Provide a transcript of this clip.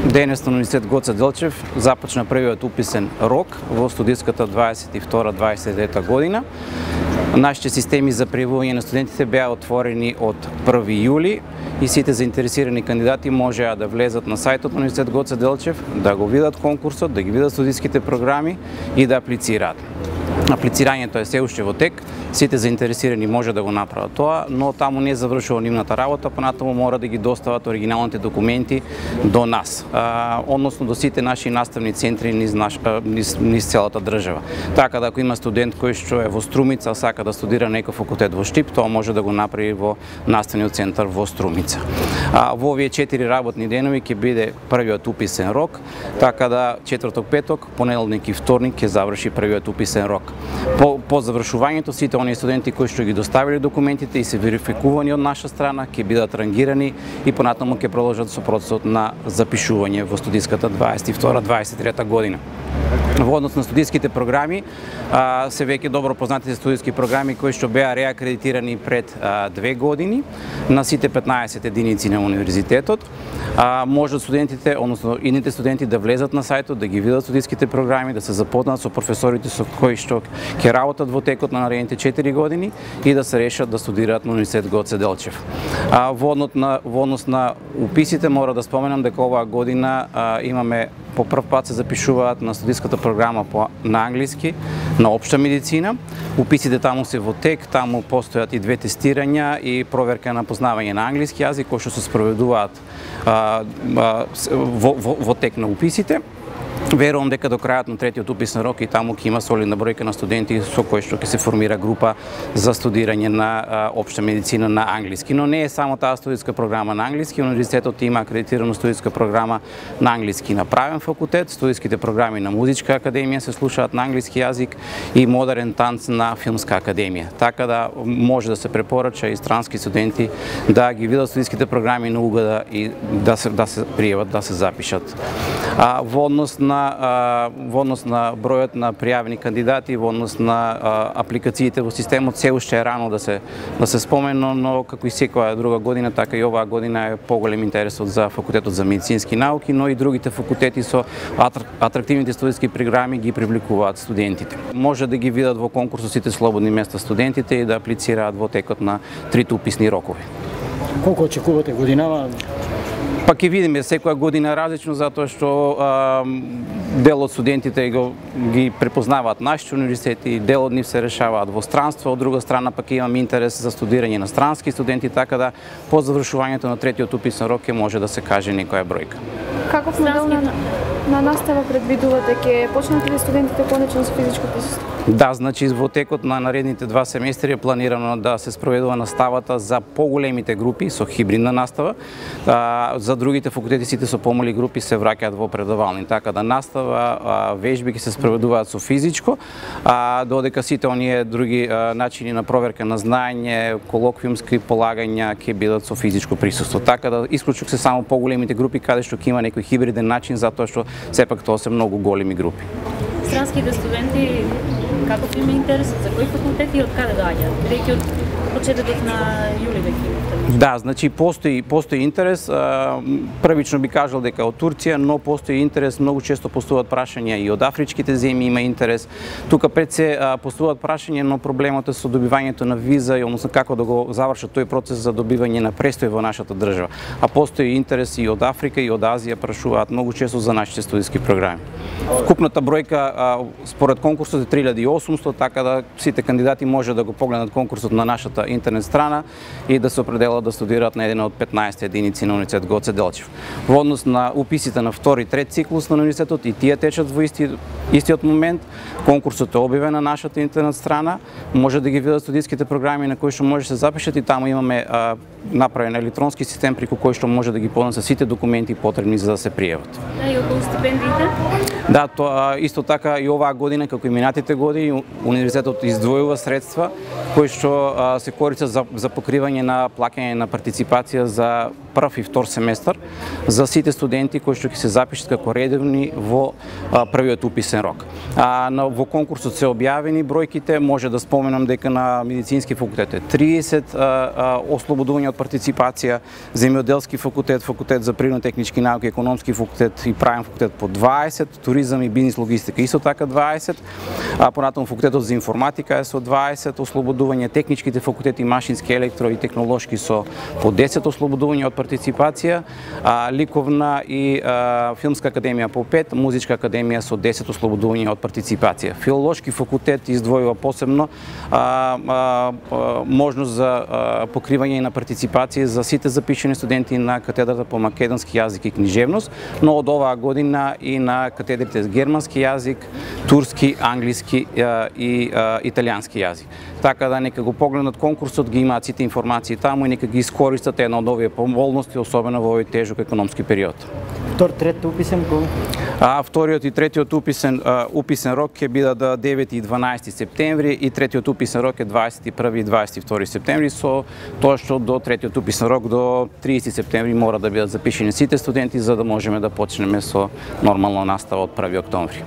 Денес на Универзитет Гоце Делчев започна првиот уписен рок во студиската 22-23 година. Нашите системи за пријавување на студентите беа отворени од 1 јули и сите заинтересирани кандидати можеа да влезат на сајтот на Универзитет Гоце Делчев, да го видат конкурсот, да ги видат студиските програми и да аплицираат. Аплицирањето е се уште во тек, сите заинтересирани може да го направат тоа, но таму не завршува нивната работа, понатаму мора да ги достават оригиналните документи до нас, односно до сите наши наставни центри низ целата држава. Така да ако има студент кој што е во Струмица, сака да студира некој факултет во Штип, тоа може да го направи во наставниот центар во Струмица. Во овие 4 работни денови ќе биде првиот уписен рок, така да четврток, петок, понеделник и вторник ќе заврши првиот уписен рок. По завршувањето сите оние студенти кои што ги доставиле документите и се верификувани од наша страна ќе бидат рангирани и понатаму ќе продолжат со процесот на запишување во студиската 22-23 година. Во однос на студиските програми, се веќе добро познатите студиски програми кои што беа реакредитирани пред 2 години на сите 15 единици на универзитетот. Можат студентите, односно идните студенти да влезат на сајтот, да ги видат студиските програми, да се запознаат со професорите со кои што ќе работат во текот на наредните 4 години и да се решат да студираат на Универзитет Гоце Делчев. Во однос на уписите мора да споменам дека оваа година имаме по прв пат се запишуваат на студиската програма на англиски, на општа медицина. Уписите таму се во тек, таму постојат и 2 тестирања и проверка на познавање на англиски јазик кои што се спроведуваат во тек на уписите. Верувам дека до крајот на третиот уписен рок и таму ќе има солидна бројка на студенти со кои што ќе се формира група за студирање на општа медицина на англиски. Но не е само таа студиска програма на англиски, универзитетот има акредитирана студиска програма на англиски на правен факултет, студиските програми на музичка академија се слушаат на англиски јазик и модерен танц на филмска академија. Така да може да се препорача и странски студенти да ги видат студиските програми на УГД и да се пријават, да се запишат. Во однос на бројот на пријавени кандидати, во однос на апликациите во системот, се уште е рано да се спомено, но како и секоја друга година, така и оваа година е поголем интересот за факултетот за медицински науки, но и другите факултети со атрактивните студиски програми ги привлекуваат студентите. Може да ги видат во конкурсот сите слободни места студентите и да аплицираат во текот на 3 уписни рокови. Колку очекувате годинава? Па ќе видиме, секоја година различно, затоа што дел од студентите ги препознаваат нашите универзитети, дел од нив се решаваат во странство, од друга страна пак имаме интерес за студирање на странски студенти, така да по завршувањето на третиот уписен рок ќе може да се каже некоја бројка. Каков модел на настава предвидувате? Ќе почнат ли студентите конечно со физичко присуство? Да, значи во текот на наредните 2 семестри е планирано да се спроведува наставата за поголемите групи со хибридна настава. За другите факултети сите со помали групи се враќаат во предавални, така да настава, вежби ќе се спроведуваат со физичко, додека сите оние други начини на проверка на знаење, колоквиумски полагања ќе бидат со физичко присуство. Така да исклучок се само поголемите групи каде што ќе има некој хибриден начин, затоа што сепак тоа се многу големи групи. Странските студенти каков им е интересот, за кои факултети и од каде доаѓаат? Бидејќи од почетокот на јули веќе имате. Да, значи постои интерес. Првично би кажал дека од Турција, но постои интерес, многу често постуваат прашања и од афричките земји има интерес. Тука пред се постуваат прашања, но проблемот е со добивањето на виза и односно како да го завршат тој процес за добивање на престој во нашата држава. А постои интерес и од Африка и од Азија, прашуваат многу често за нашите студиски програми. Вкупната бројка според конкурсот е 3800, така да сите кандидати може да го погледнат конкурсот на нашата интернет страна и да се определат да студираат на еден од 15 единици на Универзитет Гоце Делчев. Во однос на уписите на втори и трет циклус на универзитетот, и тие течат во истиот момент. Конкурсот е објавен на нашата интернет страна, може да ги видат студиските програми на кои што може да се запишат и таму имаме направен електронски систем преку кој што може да ги поднесат сите документи потребни за да се пријават. И околу стипендиите? Да, тоа исто така и оваа година, како и минатите години, универзитетот издвојува средства кои што се користат за покривање на плаќање на партиципација за прв и втор семестар за сите студенти кои што ќе се запишат како редовни во првиот уписен рок. Во конкурсот се објавени бројките, може да споменам дека на медицински факултет е 30 ослободувања од партиципација, земјоделски факултет, факултет за природно-технички науки, економски факултет и правен факултет по 20, туризам и бизнис логистика исто така 20, понатаму факултетот за информатика е со 20 ослободувања, техничките факултети машински, електро и технолошки со по 10 ослободувања од партиципација, ликовна и филмска академија по 5, музичка академија со 10 ослободувања од партиципација. Филолошки факултет издвојува посебно можност за покривање на партиципација за сите запишани студенти на катедрата по македонски јазик и книжевност, но од оваа година и на катедрите за германски јазик, турски, англиски и италијански јазик. Така да нека го погледнат конкурсот, ги имаат сите информации таму и нека ги искористат една од овие поволности, особено во овој тежок економски период. Втор, трети уписен кога? Вториот и третиот уписен рок ќе бидат 9 и 12 септември и третиот уписен рок е 21 и 22 септември, со тоа што до третиот уписен рок до 30 септември мора да бидат запишени сите студенти за да можеме да почнеме со нормална настава од 1 октомври.